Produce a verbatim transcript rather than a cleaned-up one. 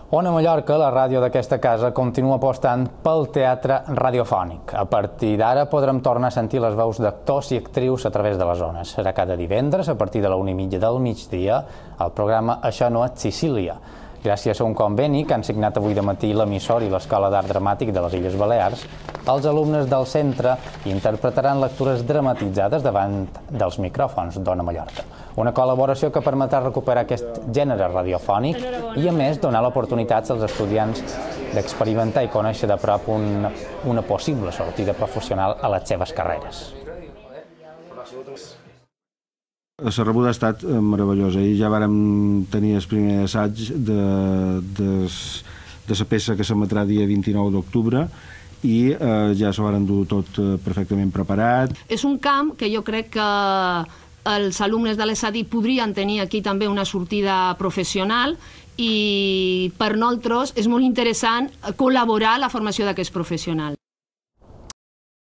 Ona Mallorca, la ràdio d'aquesta casa, continua apostant pel teatre radiofònic. A partir d'ara podrem tornar a sentir les veus d'actors i actrius a través de les ones. Serà cada divendres, a partir de la una i mitja del migdia, el programa Això no és Sicília. Gràcies a un conveni que han signat avui de matí l'emissor i l'Escola d'Art Dramàtic de les Illes Balears, els alumnes del centre interpretaran lectures dramatitzades davant dels micròfons d'Ona Mallorca. Una col·laboració que permetrà recuperar aquest gènere radiofònic i, a més, donar l'oportunitat als estudiants d'experimentar i conèixer de prop una, una possible sortida professional a les seves carreres. La rebuda ha estat meravellosa i ja vàrem tenir el primer assaig de, de, de la peça que s'emetrà dia vint-i-nou d'octubre i eh, ja s'ho varen dur tot perfectament preparat. És un camp que jo crec que els alumnes de l'E S A D I podrien tenir aquí també una sortida professional i per nosaltres és molt interessant col·laborar a la formació d'aquests professionals.